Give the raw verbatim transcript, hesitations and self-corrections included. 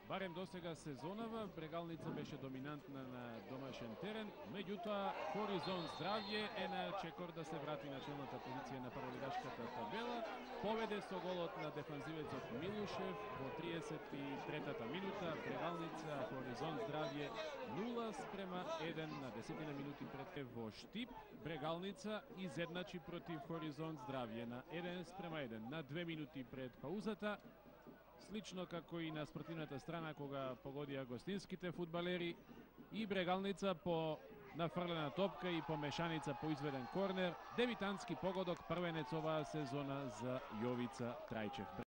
Барем до сега сезонава, Брегалница беше доминантна на домашен терен, меѓутоа Хоризонт Здравје е на чекор да се врати на челната позиција на прволигашката табела. Поведе со голот на дефанзивецот Милушев во триесет и третата минута. Брегалница, Хоризонт Здравје нула спрема еден на десетина минути пред во Штип. Брегалница изедначи против Хоризонт Здравје на еден спрема еден на две минути пред паузата. Слично како и на спортивната страна кога погодија гостинските фудбалери, и Брегалница по нафрлена топка и по мешаница по изведен корнер, дебитантски погодок, првенец оваа сезона за Јовица Трајчев.